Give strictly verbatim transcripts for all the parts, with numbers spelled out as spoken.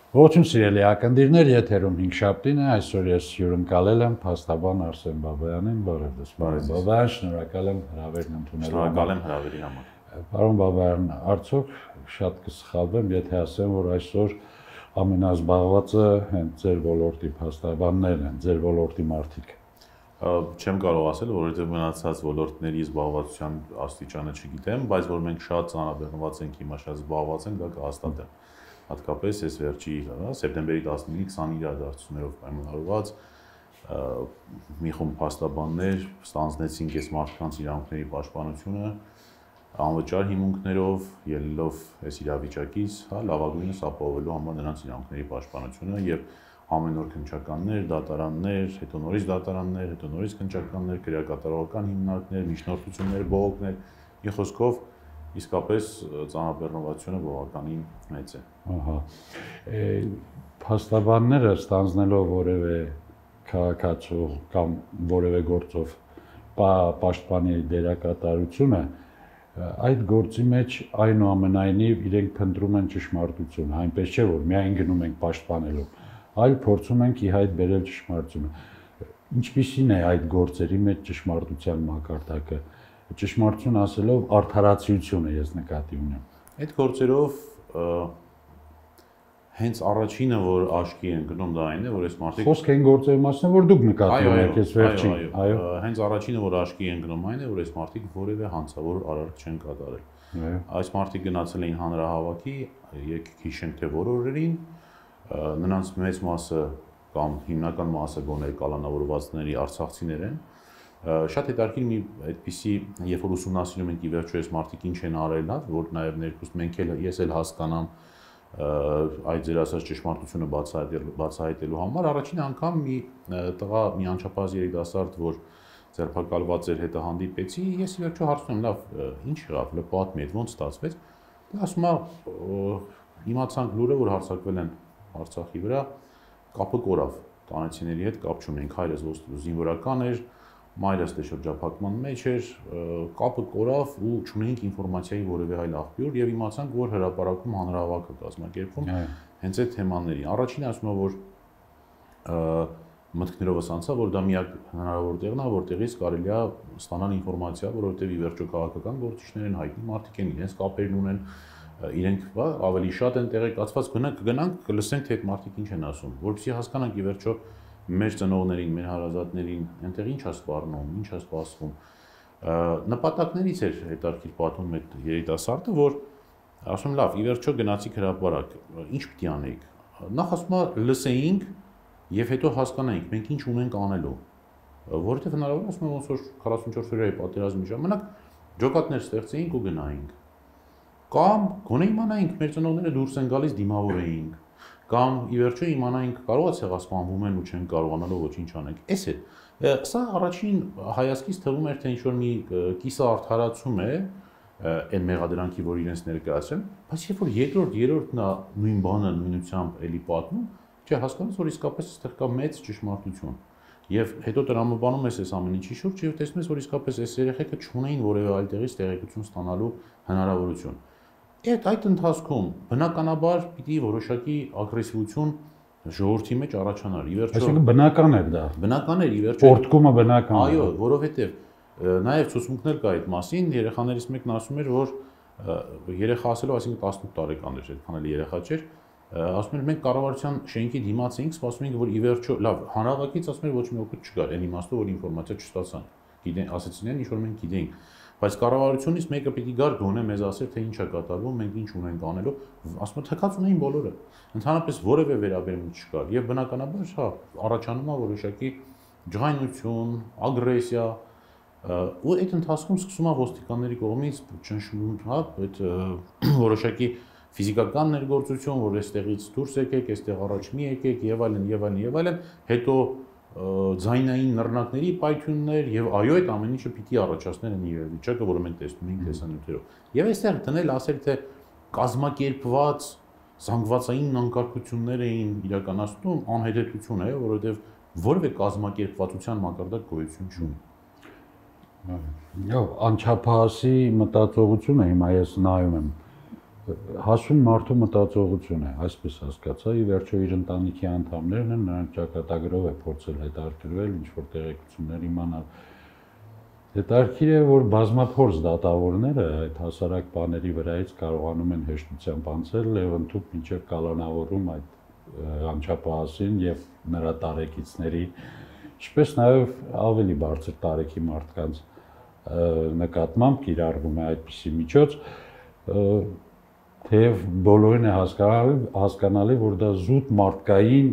Ողջույն սիրելի ակնդիրներ, եթերում հինգշաբթին է, այսօր ես հյուրընկալել եմ փաստաբան Արսեն Բաբայանին, բարև ձեզ, պարոն Բաբայան, շնորհակալ եմ հրավերն ընդունելու համար։ Շնորհակալ եմ հրավերի համար։ Պարոն Բաբայան, արդյոք շատ կսխալվեմ, եթե ասեմ, որ այսօր ամենազբաղվածը հենց ձեր ոլորտի փաստաբաններն են, ձեր ոլորտի մարդիկ։ Չեմ կարող ասել, որովհետև մնացած ոլորտների զբաղվածության աստիճանը չգիտեմ, բայց որ մենք շատ ծանրաբեռնված ենք, հիմա շատ զբաղված ենք, դա կհաստատեմ։ Հատկապես այս վերջի սեպտեմբերի տասնինի քսանինը իրադարձություններով պայմանավորված մի խումբ փաստաբաններ ստանձնեցին այս մարդկանց իրավունքների պաշտպանությունը անվճար հիմունքներով, ելնելով այս իրավիճակից, հա, լավագույնս ապահովելու համար նրանց իրավունքների պաշտպանությունը եւ ամեն օր քննչականներ, դատարաններ, հետո նորից դատարաններ, հետո նորից քննչականներ, քրեակատարողական հիմնարկներ, միջնորդություններ, բողոքներ, մի խոսքով իսկապես ծանրաբեռնվածությունը բավականին մեծ է։ Ահա։ Փաստաբանները ստանձնելով որևէ քաղաքացու կամ որևէ գործով պաշտպանի դերակատարությունը, այդ գործի մեջ այնուամենայնիվ իրենք փնտրում են ճշմարտություն, այնպես չէ որ միայն գնում ենք պաշտպանելու, այլ փորձում ենք ի հայտ բերել ճշմարտությունը։ Ինչպիսին է այդ գործերի մեջ ճշմարտության մակարդակը։ Ճշմարտություն ասելով արդարացիությունը ես նկատի ունեմ։ Այդ գործերով հենց առաջինը, որ աչքի են գնում, դա այն է, որ այս մարդիկ խոսք են գործերի մասին, որ դուք նկատի ունեք այս վերջին, այո, հենց առաջինը, որ աչքի են գնում, այն է, որ այս մարդիկ որևէ հանցավոր արարք չեն կատարել։ Այս մարդիկ գնացել էին հանրահավաքի, եկեք հիշենք թե որ օրերին, նրանց մեծ մասը կամ հիմնական մասը գոնե կալանավորվածների արցախցիներ են։ Շատ հետաքրքիր մի այդպիսի, երբ որ ուսումնասիրում ենք ի վերջո այս մարդիկ ինչ են արել, որ նաև ներկուստ մենք էլ ես էլ հասկանամ այդ ձեր ասած ճշմարտությունը բացահայտելու բացահայտելու համար առաջին անգամ մի տղա մի անչափահաս երիտասարդ, որ ձերբակալված էր, հետը հանդիպեցի, ես ի վերջո հարցնում եմ, լավ, ինչ եղավ, լավ պատմի, ոնց ստացվեց։ Դա ասում է, իմացանք լուրը, որ հարձակվել են Արցախի վրա, կապը կորավ, տանեցիների հետ կապ չունենք, հայրս զինվորական էր, մայրս դե շրջափակման մեջ էր, կապը կորավ ու չունենք ինֆորմացիայի որևէ այլ աղբյուր եւ իմացանք, որ հրապարակում հանրահավաք է կազմակերպվում հենց այդ թեմաներին։ Առաջինը ասում է, որ մտքներովս անցա, որ դա միակ հնարավոր տեղն է, որտեղից կարելի է ստանալ ինֆորմացիա, որովհետեւ ի վերջո քաղաքական գործիչներ են, հայտնի մարդիկ են, իրենց կապերն ունեն, իրենք ավելի շատ են տեղեկացված, գնանք գնանք կլսենք թե այդ մարդիկ ինչ են ասում, որովհետեւ հասկանանք ի վերջո մեր ծնողներին, մեր հարազատներին, այնտեղ ինչ է սպառնում, ինչ է սպասվում։ Նպատակներից էր հետաքրքիր պատմում այդ երիտասարդը, որ ասում լավ, ի վերջո գնացիք հրապարակ, ինչ պիտի անեիք։ Նախ ասում է լսեինք եւ հետո հասկանայինք մենք ինչ ունենք անելու։ Որովհետեւ հնարավոր է ասում ոնց որ քառասունչորս օրյայի պատերազմի ժամանակ ջոկատներ ստեղծեինք ու գնայինք։ Կամ գոնե իմանայինք մեր ծնողները դուրս են գալիս դիմավորեինք։ Կամ ի վերջո իմանայինք կարող է ցեղասպանվում են ու չեն կարողանալու ոչինչ անենք։ Էս է։ Սա առաջին հայացքից թվում էր թե ինչ որ մի կիսաարդարացում է այն մեղադրանքի, որ իրենց ներկայացրեն, բայց երբ որ երկրորդ, երրորդն է նույն բանը նույնությամբ էլի պատմում, չէ, հասկանաս որ իսկապես այստեղ կա մեծ ճշմարտություն։ Եվ հետո տրամաբանում ես այս ամեն ինչի շուրջ եւ տեսնում ես որ իսկապես այս երեխեքը չունեին որևէ այլ տեղից տեղեկություն ստանալու հնարավորություն։ Այդ այդ ընթացքում բնականաբար պիտի որոշակի ագրեսիվություն ժողովրդի մեջ առաջանար։ Ի վերջո Այսինքն բնական էր դա։ Բնական էր, ի վերջո Պորտկումը բնական է։ Այո, որովհետև նաև ցուցմունքներ կա այդ մասին, երեխաներից մեկն ասում էր, որ երեխա ասելով, այսինքն տասնութ տարեկան էր, այդքան էլ երեխա չէր, ասում էր մենք կառավարության շենքի դիմաց էինք, սպասում էինք, որ ի վերջո, լավ, հանրահավաքից ասում էր ոչ մի օգուտ չկար, այն իմաստով որ ինֆորմացիա չստացան։ Գիտեն, ասեցին, ինչ որ մենք գիտենք, բայց կառավարությունից մեկը պիտի գար գոնե մեզ ասեր թե ինչ է կատարվում, մենք ինչ ունենք անելու, ասում եմ թքած ունեին բոլորը։ Ընդհանրապես որևէ վերաբերմունք չկար եւ բնականաբար հա առաջանում է որոշակի ջղայնություն, ագրեսիա ու այդ ընթացքում սկսում է ոստիկանների կողմից ճնշում, հա, այդ որոշակի ֆիզիկական ներգործություն, որ այստեղից դուրս եկեք, այստեղ առաջ մի եկեք եւ այլն եւ այլն եւ այլն, հետո ձայնային նռնակների պայթյուններ եւ այո այդ ամեն ինչը պիտի առաջացներ այն իրավիճակը, որը մենք տեսնում ենք տեսանյութերով։ Եվ այստեղ դնել ասել թե կազմակերպված զանգվածային անկարգություններ էին իրականացնում, անհետեթություն է, որովհետեւ որևէ կազմակերպվածության մակարդակ գոյություն չունի։ Այո, անչափահասի մտածողությունը հիմա ես նայում եմ հասուն մարդու մտածողություն է, այսպես հասկացա, ի վերջո իր ընտանիքի անդամներն են, նրանք ճակատագրով է փորձել հետաքրքրվել, ինչ-որ տեղեկություններ իմանալ։ Հետաքրքիր է, որ բազմափորձ դատավորները այդ հասարակ բաների վրայից կարողանում են հեշտությամբ անցնել Լևոնտուփ մինչև կալանավորում այդ անչափահասին եւ նրա տարեկիցների, ինչպես նաեւ ավելի բարձր տարեկի մարդկանց նկատմամբ կիրառվում է այդպիսի միջոց, թեև բոլորին է հասկանալի, հասկանալի, որ դա զուտ մարդկային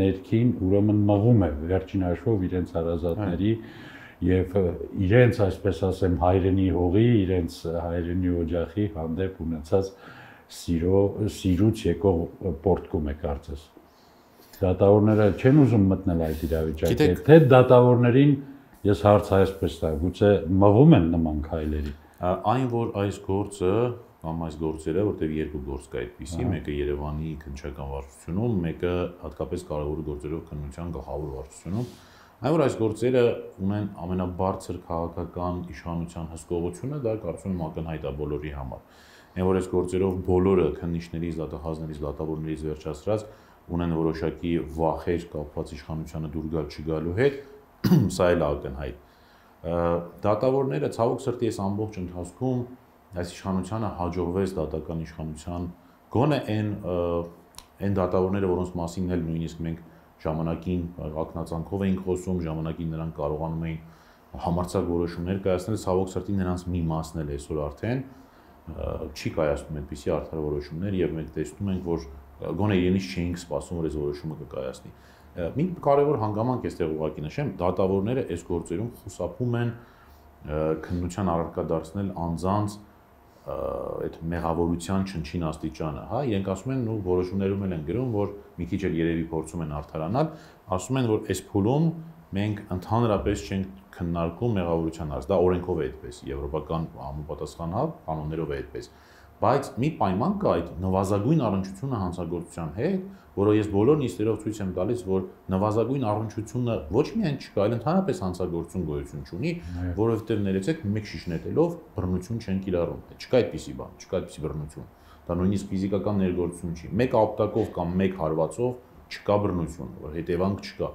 ներքին ուրեմն մղում է վերջին հաշվով իրենց հարազատների եւ իրենց, այսպես ասեմ, հայրենի հողի, իրենց հայրենի օջախի հանդեպ ունեցած սիրո, սիրուց եկող պորտկում է կարծես։ Դատավորները չեն ուզում մտնել այդ իրավիճակի, թե դատավորներին ես հարց այսպես տա, գուցե մղում են նման քայլերի։ Այն, որ այս գործը կամ այս գործերը, որտեղ երկու գործ կա այդպիսի, մեկը Երևանի քննչական վարչությունում, մեկը հատկապես կարևոր գործերով քննության գլխավոր վարչությունում, այն որ այս գործերը ունեն ամենաբարձր քաղաքական իշխանության հսկողությունը, դա կարծում եմ ակնհայտ է բոլորի համար։ Այն որ այս գործերով բոլորը քննիչներից, դատախազներից, դատավորներից վերջացրած ունեն որոշակի վախեր կապված իշխանությանը դուր գալ չգալու հետ, սա էլ ակնհայտ։ Դատավորները ցավոք սրտի այս ամբողջ ընթացքում այս իշխանությանը հաջողվեց դատական իշխանության գոնե այն այն դատավորները, որոնց մասին էլ նույնիսկ մենք ժամանակին ակնածանքով էինք խոսում, ժամանակին նրանք կարողանում էին համարձակ որոշումներ կայացնել, ցավոք սրտի նրանց մի մասն էլ այսօր արդեն չի կայացնում այդպիսի արդար որոշումներ եւ մենք տեսնում ենք, որ գոնե իրենից չէինք սպասում, որ այս որոշումը կկայացնի։ Մի կարևոր հանգամանք էստեղ ուղղակի նշեմ, դատավորները այս գործերում խուսափում են քննության առարկա դարձնել անձանց այդ մեղավորության չնչին աստիճանը, հա, իրենք ասում են ու որոշումներում են գրում, որ մի քիչ էլ երևի փորձում են արդարանալ, ասում են, որ այս փուլում մենք ընդհանրապես չենք քննարկում մեղավորության հարց, դա օրենքով է այդպես, եվրոպական համապատասխան կանոններով է այդպես, բայց մի պայման կա այդ նվազագույն առնչությունը հանցագործության հետ, որը ես բոլոր նիստերով ցույց եմ տալիս, որ նվազագույն առնչությունը ոչ միայն չկա, այլ ընդհանրապես հանցագործություն գոյություն չունի, որովհետև ներեցեք մեկ շիշ նետելով բռնություն չեն կիրառում։ Չկա այդպիսի բան, չկա այդպիսի բռնություն։ Դա նույնիսկ ֆիզիկական ներգործություն չի։ Մեկ ապտակով կամ մեկ հարվածով չկա բռնություն, որ հետևանք չկա։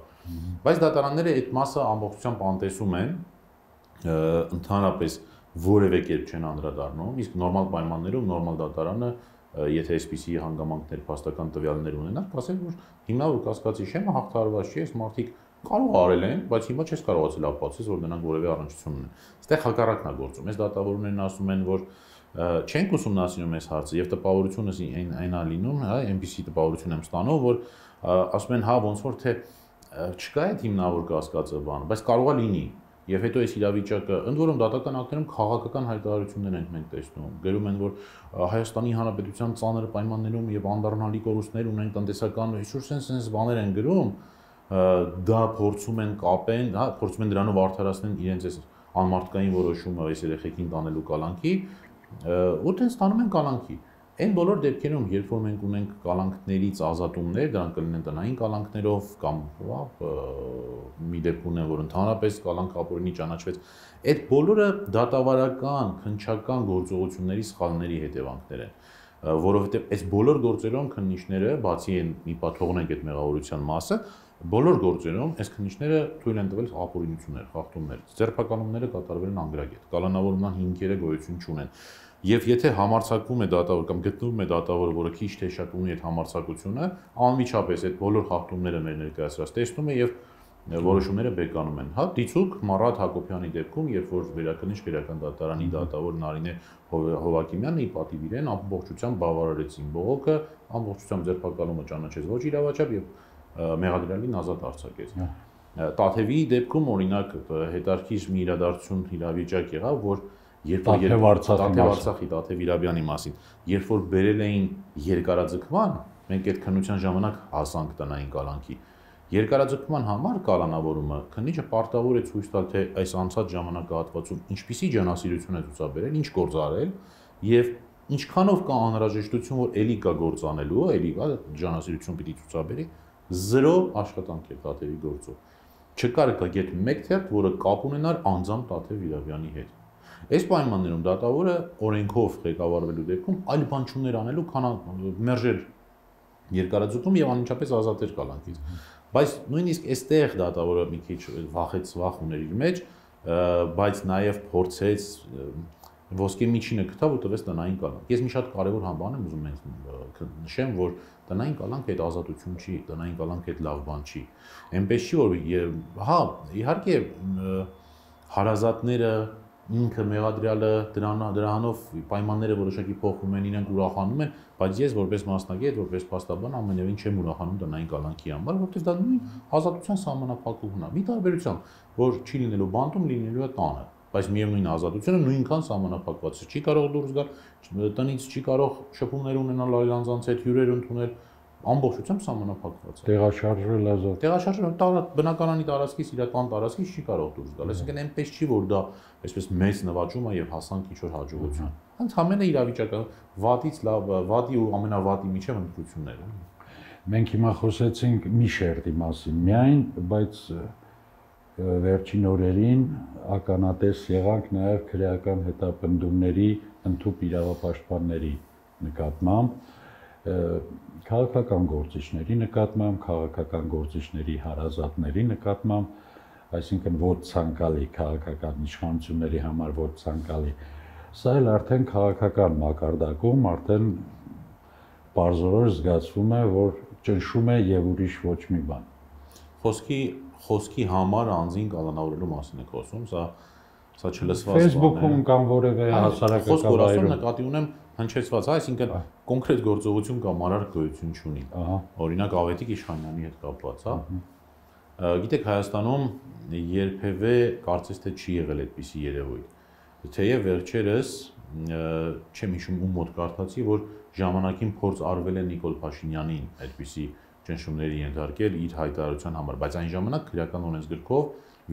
Բայց դատարանները այդ մասը ամբողջությամբ անտեսում են, ընդհանրապես որևէ կերպ չեն անդրադառնում, իսկ նորմալ պայմաններում նորմալ դատարանը, եթե այսպիսի հանգամանքներ, փաստական տվյալներ ունենար, կասեն, որ հիմնավոր կասկածի շեմը հաղթահարված չի, այս մարդիկ կարող արել են, բայց հիմա չես կարողացել ապացուցել, որ նրանք որևէ առնչություն ունեն։ Այստեղ հակառակն է գործում։ Այս դատավորներն ասում են, որ չենք ուսումնասիրում այս հարցը եւ տպավորությունս այն այնա լինում, հա, այնպիսի տպավորություն եմ ստանում, որ ասում են, հա, ոնց որ թե չկա այդ հիմնավոր կասկածը բան, բայց կարող է լինի։ Եվ հետո այս իրավիճակը, ընդ որում դատական ակտերում քաղաքական հայտարարություններ ենք մենք տեսնում, գրում են, որ Հայաստանի Հանրապետության ծանր պայմաններում եւ անդառնալի կորուստներ ունեն տնտեսական, ինչ-որ sense բաներ են գրում, դա փորձում են կապեն, հա, փորձում են դրանով արդարացնել իրենց այս անմարդկային որոշումը այս երեխեքին տանելու կալանքի, ու դեն ստանում են կալանքի։ Այն բոլոր դեպքերում, երբ որ մենք ունենք կալանքներից ազատումներ, դրանք կլինեն տնային կալանքներով կամ մի դեպք ունեն, որ ընդհանրապես կալանք ապօրինի ճանաչվեց, այդ բոլորը դատավարական, քննչական գործողությունների սխալների հետևանքներ են, որովհետև այս բոլոր գործերում քննիչները, բացի այն մի պա թողնենք այդ մեղավորության մասը, բոլոր գործերում այս քննիչները թույլ են տվել ապօրինություններ, խախտումներ, ձերբակալումները կատարվել են անգրագետ, կալանավորման հիմքերը գոյություն չունեն։ Եվ եթե համարձակվում է դատավոր կամ գտնվում է դատավորը, որը քիչ թե շատ ունի այդ համարձակությունը, անմիջապես այդ բոլոր խախտումները մեր ներկայացրած տեսնում է եւ որոշումները բեկանում են։ Հա, դիցուկ Մարատ Հակոբյանի դեպքում, երբ որ վերաքննիչ քրեական դատարանի դատավոր Նարինե Հովակիմյանը ի պատիվ իրեն ամբողջությամբ բավարարեցին բողոքը, ամբողջությամբ ձերբակալումը ճանաչեց ոչ իրավաչափ եւ մեղադրյալին ազատ արձակեց։ Տաթևի դեպքում օրինակ հետարքից մի իրադարձություն իրավիճակ եղավ, որ երբ որ Արցախի Տաթև Իրաբյանի մասին, երբ որ բերել էին երկարաձգման, մենք այդ քննության ժամանակ հասանք տնային կալանքի։ Երկարաձգման համար կալանավորումը քննիչը պարտավոր է ցույց տալ, թե այս անցած ժամանակահատվածում ինչպիսի ջանասիրություն է ցուցաբերել, ինչ գործ արել եւ ինչքանով կա անհրաժեշտություն, որ ելի կա գործ անելու, ելի կա ջանասիրություն պիտի ցուցաբերի, զրո աշխատանք է Տաթևի գործով։ Չկար կա գետ մեկ թերթ, որը կապ ունենար անձամբ Տաթև Իրաբյանի հետ։ Այս պայմաններում դատավորը օրենքով ղեկավարվելու դեպքում այլ բան չուներ անելու, քան մերժել երկարաձգում եւ անմիջապես ազատել կալանքից։ Բայց նույնիսկ այստեղ դատավորը մի քիչ վախեց, վախ ուներ իր մեջ, բայց նաեւ փորձեց ոսկե միջինը գտավ ու տվեց տնային կալանք։ Ես մի շատ կարևոր բան եմ ուզում նշեմ, որ տնային կալանքը այդ ազատություն չի, տնային կալանքը այդ լավ բան չի։ Էնպես չի, որ հա, իհարկե հարազատները ինքը մեղադրյալը դրանով պայմանները որոշակի փոխում են, իրենք ուրախանում են, բայց ես որպես մասնագետ, որպես փաստաբան ամենևին չեմ ուրախանում տնային կալանքի համար, որովհետև դա նույն ազատության սահմանափակումն է։ Մի տարբերությամբ, որ չի լինելու բանտում, լինելու է տանը, բայց միևնույն ազատությունը նույնքան սահմանափակված է։ Չի կարող դուրս գալ տնից, չի կարող շփումներ ունենալ այլ անձանց հետ, հյուրեր ընդունել, ամբողջությամբ սահմանափակված է։ Տեղաշարժվել ազատ։ Տեղաշարժվել բնակարանի տարածքից իրական տարածքից չի կարող դուրս գալ։ Այսինքն այնպես չի, որ դա այսպես մեծ նվաճում է եւ հասանք ինչ-որ հաջողություն։ Ընդհանրապես իրավիճակը վատից լավ, վատի ու ամենավատի միջև ընտրությունները։ Մենք հիմա խոսեցինք մի շերտի մասին միայն, բայց վերջին օրերին ականատես եղանք նաեւ քրեական հետապնդումների ընդհուպ իրավապաշտպանների նկատմամբ, քաղաքական գործիչների նկատմամբ, քաղաքական գործիչների հարազատների նկատմամբ, այսինքն ոչ ցանկալի քաղաքական իշխանությունների համար ոչ ցանկալի։ Սա էլ արդեն քաղաքական մակարդակում արդեն բարձրորոշ զգացվում է, որ ճնշում է եւ ուրիշ ոչ մի բան։ Խոսքի խոսքի համար անձին կալանավորելու մասին եք խոսում, սա սա չլսված բան է։ Facebook-ում կամ որևէ հասարակական վայրում նկատի ունեմ հնչեցված, այսինքն կոնկրետ գործողություն կամ արար գոյություն չունի։ Օրինակ Ավետիք Իշխանյանի հետ կապված, հա։ Գիտեք, Հայաստանում երբևէ կարծես թե չի եղել այդպիսի երևույթ։ Թեև վերջերս չեմ հիշում ում մոտ կարդացի, որ ժամանակին փորձ արվել է Նիկոլ Փաշինյանին այդպիսի ճնշումների ենթարկել իր հայտարարության համար, բայց այն ժամանակ քրեական օրենսգրքով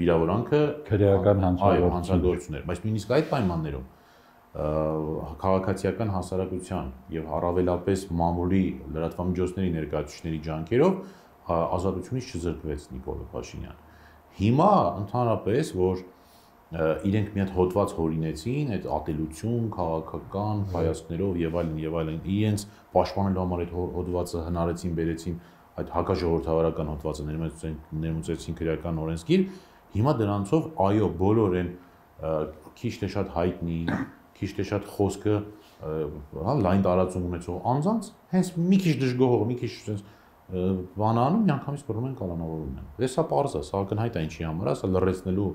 վիրավորանքը քրեական հանցագործություն էր, բայց նույնիսկ այդ պայմաններում քաղաքացիական հասարակության եւ առավելապես մամուլի լրատվամիջոցների ներկայացուցիչների ջանքերով ազատությունից չզրկվեց Նիկոլ Փաշինյան։ Հիմա ընդհանրապես որ իրենք մի հատ հոդված հորինեցին, այդ ատելություն, քաղաքական հայացքներով եւ այլն եւ այլն, իրենց պաշտպանելու համար այդ հոդվածը հնարեցին, բերեցին այդ հակաժողովրդավարական հոդվածը ներմուծեցին քրեական օրենսգիր, հիմա դրանցով այո, բոլոր են քիչ թե շատ հայտնի, քիչ թե շատ խոսքը, հա, լայն տարածում ունեցող անձանց, հենց մի քիչ դժգոհող, մի քիչ sense բանանում միանգամից բռնում են կալանավորում են։ Դե սա պարզ է, սա ակնհայտ է ինչի համար, սա լրացնելու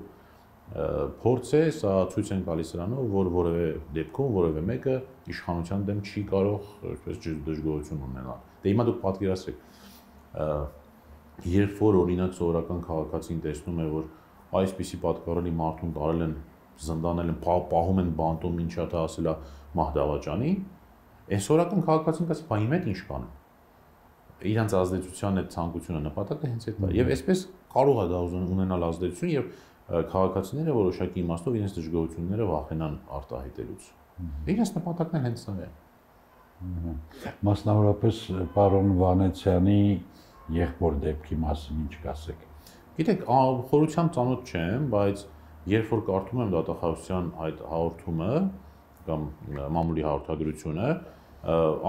փորձ է, սա ցույց են տալիս նրանով, որ որևէ դեպքում որևէ մեկը իշխանության դեմ չի կարող այսպես դժգոհություն ունենալ։ Դե հիմա դուք պատկերացրեք, երբ որ օրինակ սովորական քաղաքացին տեսնում է, որ այսպիսի պատկառելի մարդուն տարել են, զնդանել են, պահում են բանտում, ինչա դա ասելա մահ դավաճանի, այս սովորական քաղաքացին կասի, բա իմ հետ ինչ կանեմ։ Իրանց ազդեցության այդ ցանկությունը նպատակը հենց այդ է։ Եվ այսպես կարող է դա ունենալ ազդեցություն եւ քաղաքացիները որոշակի իմաստով իրենց դժգոհությունները վախենան արտահայտելուց։ Իրենց նպատակն էլ հենց սա է։ Մասնավորապես պարոն Վանեցյանի եղբոր դեպքի մասին ինչ կասեք։ Գիտեք, խորությամբ ծանոթ չեմ, բայց երբ որ կարդում եմ դատախազության այդ հաղորդումը կամ մամուլի հաղորդագրությունը,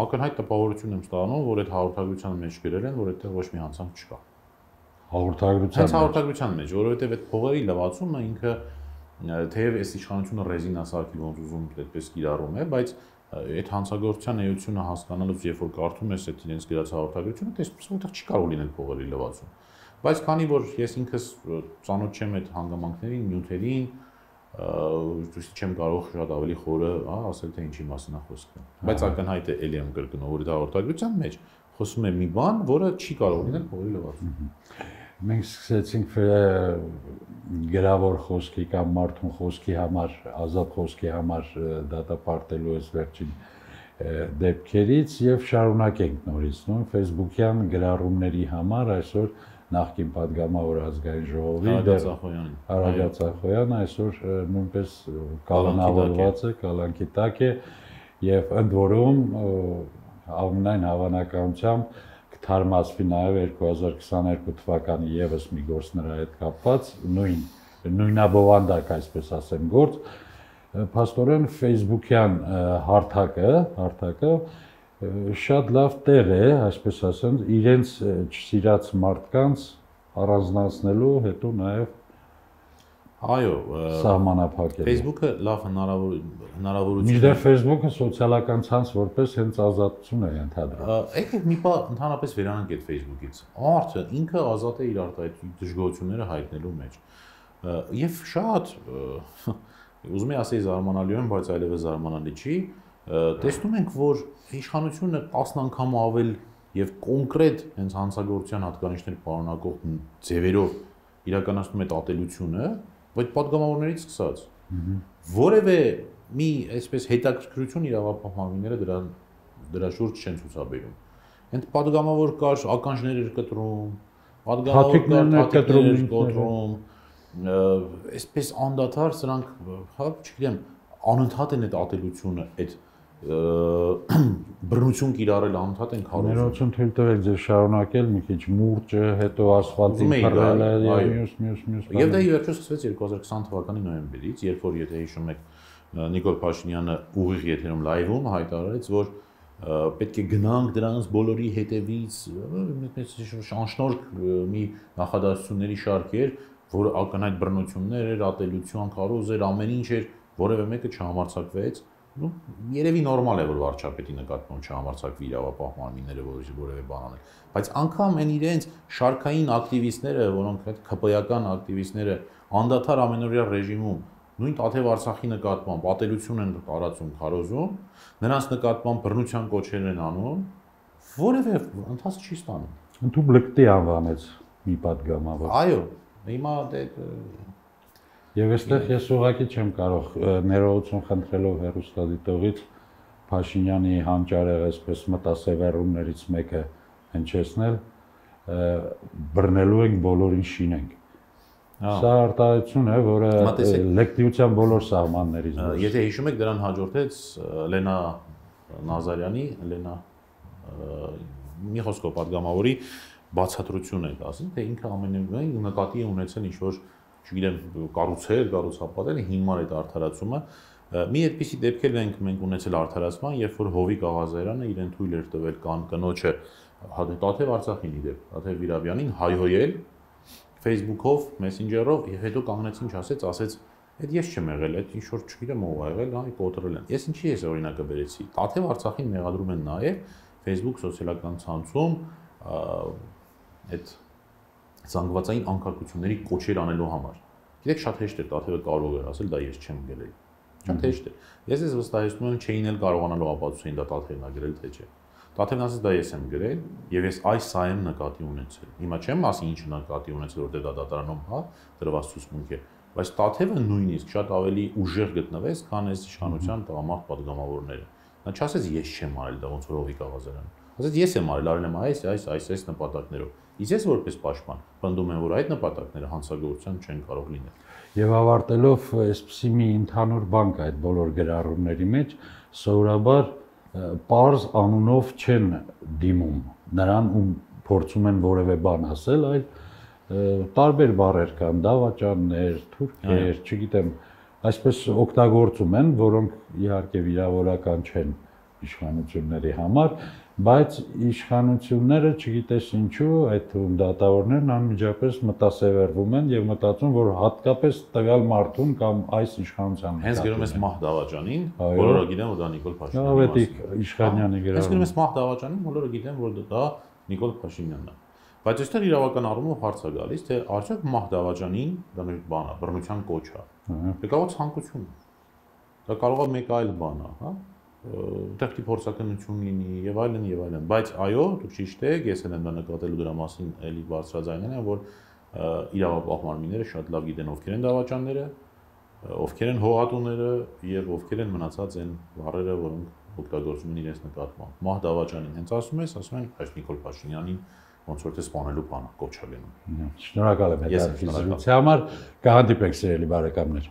ակնհայտ տպավորություն եմ ստանում, որ այդ հաղորդագրության մեջ գրել են, որ այդտեղ ոչ մի հանցանք չկա։ Հաղորդագրության մեջ։ Հաղորդագրության մեջ, որովհետև այդ փողերի լվացումը ինքը թեև այս իշխանությունը ռեզինա սարքի ոնց ուզում այդպես կիրառում է, բայց այդ հանցագործության էությունը հասկանալուց երբ որ կարդում ես այդ իրենց գրած հաղորդագրությունը, տեսնում ես, որ այդտեղ չի կարող լինել փողերի լվացում։ Բայց քանի որ ես ինքս ծանոթ չեմ այդ հանգամանքներին, նյութերին, դուք չեմ կարող շատ ավելի խորը, հա, ասել թե ինչի մասին է խոսքը։ Բայց ակնհայտ է էլի եմ կրկնում, որ դա հաղորդագրության մեջ խոսում է մի բան, որը չի կարող լինել փողերի լվացում։ Մենք սկսեցինք գրավոր խոսքի կամ մարդուն խոսքի համար, ազատ խոսքի համար դատապարտելու այս վերջին դեպքերից եւ շարունակենք նորից, նո Facebook-յան գրառումների համար այսօր նախկին падգամավոր ազգային ժողովի Արագած Ախոյանը այսօր նույնպես կալանավորված է, կալանքի տակ է եւ ընդ որում ամենայն հավանականությամբ կթարմացվի նաեւ երկու հազար քսաներկու թվականի եւս մի գործ նրա հետ կապված, նույն նույնաբովանդակ, այսպես ասեմ, գործ, փաստորեն Facebook-յան հարթակը, հարթակը շատ լավ տեղ է, այսպես ասեմ, իրենց չսիրած մարդկանց առանձնացնելու, հետո նաև այո, սահմանափակել։ Facebook-ը լավ հնարավորություն է։ Մինչդեռ Facebook-ը սոցիալական ցանց որպես հենց ազատություն է ընդհանրում։ Եկեք մի բան ընդհանրապես վերանանք այդ Facebook-ից։ Մարդը ինքը ազատ է իր դժգոհությունները հայտնելու մեջ։ Եվ շատ ուզում եմ ասել զարմանալի եմ, բայց այլևս զարմանալի չի, տեսնում ենք, որ իշխանությունը տասն անգամ ավել եւ կոնկրետ հենց հանցագործության հատկանիշներ պարունակող ձևերով իրականացնում է ատելությունը, բայց падգամավորներից սկսած։ Որևէ մի այսպես հետաքրքրություն իրավապահմանները դրա դրա շուրջ չեն ցուցաբերում։ Այդ падգամավոր կար ականջներ էր կտրում, падգամավոր կար թաթիկներ էր կոտրում, այսպես անդադար սրանք, հա, չգիտեմ, անընդհատ են այդ ատելությունը, այդ բռնություն կիրառել անընդհատ են քարոզում։ Ներողություն թույլ տվեք ձեզ շարունակել մի քիչ մուրճը, հետո ասֆալտին փռելը եւ մյուս մյուս մյուս։ Եվ դա ի վերջո սկսվեց երկու հազար քսան թվականի նոյեմբերից, երբ որ եթե հիշում եք Նիկոլ Փաշինյանը ուղիղ եթերում լայվում հայտարարեց, որ պետք է գնանք դրանց բոլորի հետևից, անշնորհք մի նախադասությունների շարք էր, որ ակնհայտ բռնություններ էր, ատելություն, քարոզ էր, ամեն ինչ էր, որևէ մեկը չհամարձակվեց։ Ну, երևի նորմալ է, որ վարչապետի նկատմամբ չհամարձակվի իրավապահման մարմինները որևէ բան անել, բայց անգամ այն իրենց շարքային ակտիվիստները, որոնք այդ ԿՊ-ական ակտիվիստները անդադար ամենօրյա ռեժիմում նույն Տաթև Արցախի նկատմամբ ատելություն են տարածում, քարոզում, նրանց նկատմամբ բռնության կոչեր են անում, որևէ ընթաց չի ստանում։ Ընդհանուր լկտի անվանեց մի падգամավոր։ Այո, հիմա դե Եվ այստեղ ես ուղղակի չեմ կարող ներողություն խնդրելով հեռուստադիտողից Փաշինյանի հանճարեղ այսպես մտասևեռումներից մեկը հնչեցնել, բռնելու ենք բոլորին շինենք։ Սա արտահայտություն է, որը լեկտիության բոլոր սահմաններից դուրս։ Եթե հիշում եք, դրան հաջորդեց Լենա Նազարյանի, Լենա մի խոսքով падգամավորի բացատրությունը է ասում, թե ինքը ամենևին նկատի է ունեցել ինչ-որ չգիտեմ, կառուցել, կառուցապատել, հիմար այդ արդարացումը։ Մի այդպիսի դեպքեր ենք մենք ունեցել արդարացման, երբ որ Հովիկ Աղազարյանը իրեն թույլ էր տվել կան կնոջը Տաթև Արցախին իդեպ, Տաթև Վիրաբյանին հայհոյել Facebook-ով, Messenger-ով եւ հետո կանգնեց ինչ ասեց, ասեց, այդ ես չեմ եղել, այդ ինչ որ չգիտեմ ով ա եղել, հա, կոտրել են։ Ես ինչի ես օրինակը բերեցի։ Տաթև Արցախին մեղադրում են նաեւ Facebook սոցիալական ցանցում այդ զանգվածային անկարգությունների կոչեր անելու համար։ Գիտեք, շատ հեշտ է, Տաթևը կարող էր ասել, դա ես չեմ գրել։ Շատ հեշտ է։ Ես ես վստահեցնում եմ, չէին էլ կարողանալու ապացուցել, դա Տաթևն է գրել, թե չէ։ Տաթևն ասեց, դա ես եմ գրել, եւ ես այս սա եմ նկատի ունեցել։ Հիմա չեմ ասի ինչ նկատի ունեցել, որտեղ դա դատարանում, հա, դրված ցուցմունք է, բայց Տաթևը նույնիսկ շատ ավելի ուժեղ գտնվեց, քան այս իշխանության տղամարդ падգամավորները։ Նա չասեց, ես չեմ արել դա, ոնց որ Հովիկ Աղազարյանը։ Ասեց, ես եմ արել, արել եմ այս, այս, այս, այս նպատակներով։ Իսկ ես որպես պաշտպան պնդում եմ, որ այդ նպատակները հանցագործության չեն կարող լինել։ Եվ ավարտելով այսպիսի մի ընդհանուր բան կա այդ բոլոր գրառումների մեջ, սովորաբար պարզ անունով չեն դիմում նրան, ում փորձում են որևէ բան ասել, այլ տարբեր բառեր կան, դավաճաններ, թուրքեր, չգիտեմ, այսպես օգտագործում են, որոնք իհարկե վիրավորական չեն իշխանությունների համար, բայց իշխանությունները չգիտես ինչու այդ թվում դատավորներն անմիջապես մտասևեռվում են եւ մտածում, որ հատկապես տվյալ մարդուն կամ այս իշխանության հենց գրում ես Մահ Դավաճանին, բոլորը գիտեն, որ դա Նիկոլ Փաշինյանն է։ Ավետիք Իշխանյանի գրառում։ Հենց գրում ես Մահ Դավաճանին, բոլորը գիտեն, որ դա Նիկոլ Փաշինյանն է։ Բայց այստեղ իրավական առումով հարց է գալիս, թե արդյոք Մահ Դավաճանին դա մի բան է, բռնության կոչ է։ Դա կարող է ցանկություն։ Դա կարող է մեկ այլ բան է, հա։ Տեղի փորձականություն լինի եւ այլն եւ այլն, բայց այո, դուք ճիշտ եք, ես էլ եմ դա նկատելու դրա մասին էլի բարձրաձայնել եմ, որ իրավապահ մարմինները շատ լավ գիտեն ովքեր են դավաճանները, ովքեր են հողատուները եւ ովքեր են մնացած են վառերը, որոնք օգտագործում են իրենց նկատմամբ։ Մահ Դավաճանին հենց ասում ես, ասում են այս Նիկոլ Փաշինյանին ոնց որ թե սպանելու բանը կոչ է լինում։ Շնորհակալ եմ հետաքրքրության համար, կհանդիպենք սիրելի բարեկամներ։